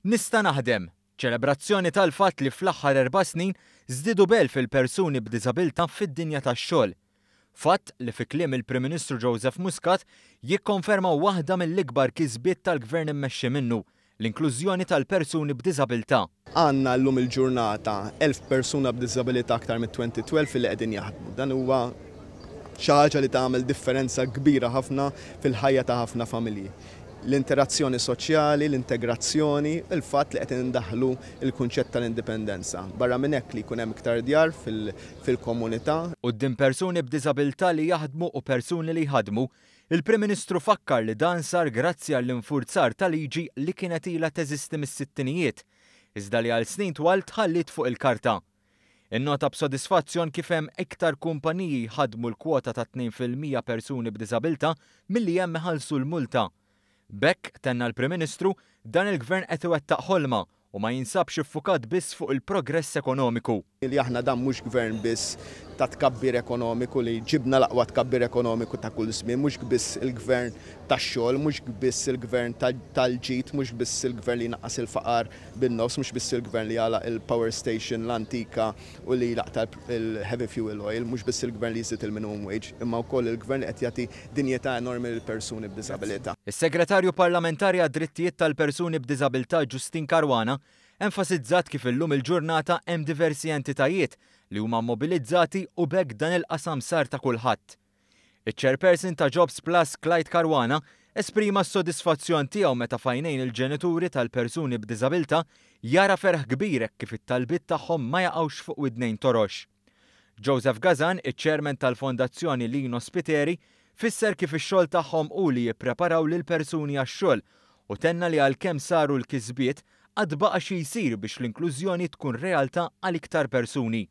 Nista' naħdem! Ċelebrazzjoni tal-fatt li fl-aħħar 4 snin żdiedu b'elf il-persuni b'diżabilità fid-dinja tax-xogħol. Fatt li fi kliem il-Prim Ministru Joseph Muscat jikkonferma waħda mill-ikbar kisbiet tal-gvern immexxi minnu, l-inklużjoni tal-persuni b'diżabilità. Għandna llum il-ġurnata 1000 persuna b'diżabilità aktar mit-2012 li qegħdin jaħdmu. Dan huwa xi ħaġa li tagħmel differenza kbira ħafna fil-ħajja ta' ħafna familji. L-interazzjoni soċjali, l-integrazzjoni, il-fatt li qed indaħlu il-kunċett tal-indipendenza. Barra minn hekk li jkun hemm iktar djar fil-komunità. Quddiem persuni b'diżabilità li jaħdmu u persuni li jħadmu, il-Prim Ministru fakkar li dan sar grazzi għall-infurzar ta' liġi li kienet ilha teżisti mis-sittinijiet, iżda li għal snin twal tħalliet fuq il-karta. Innota b'sodisfazzjon kif hemm iktar kumpaniji jħadmu l-kwota ta' 2% persuni b'diżabilità milli hemm iħallsu l-multa. B'hekk, tenna l-Prim Ministru, dan il-gvern qed iwettaq ħolma u ma jinsabx iffukat biss fuq il-progress ekonomiku. Li aħna dan mhux gvern biss ta' tkabbir ekonomiku li ġibna l-aqwa tkabbir ekonomiku ta' kull żmien, mhux biss il-gvern tax-xogħol, mhux biss il-gvern tal-ġid, mhux biss il-gvern li naqqas il-faqar bin-nofs, mhux biss il-gvern li għalaq il-power station l-antika u li laqta il-heavy fuel oil, mhux biss il-gvern li jżid il-minimum wage, imma wkoll il-gvern li qed jagħti dinjità enormi lil persuni b'diżabilità. Is-Segretarju Parlamentari għad-Drittijiet tal-Persuni b'Diżabilità Justyne Caruana enfasizzat kif illum il-ġurnata hemm diversi entitajiet li huma mobilizzati u b'hekk dan il-qasam sar ta' kulħadd. Iċ-chairperson ta' Jobs Plus Clyde Caruana esprima s-sodisfazzjon tiegħu meta f'għajnejn il-ġenituri tal-persuni b'diżabilità jara ferħ kbir kif it-talbiet tagħhom ma jaqgħux fuq widnejn torox. Joseph Gazan, iċ-chairman tal-Fondazzjoni Lino Spiteri, fisser kif ix-xogħol tagħhom hu li jippreparaw lil persuni għax-xogħol u tenna li għalkemm saru l-kisbiet għad baqa' xi jsir biex l-inklużjoni tkun realtà għal iktar persuni.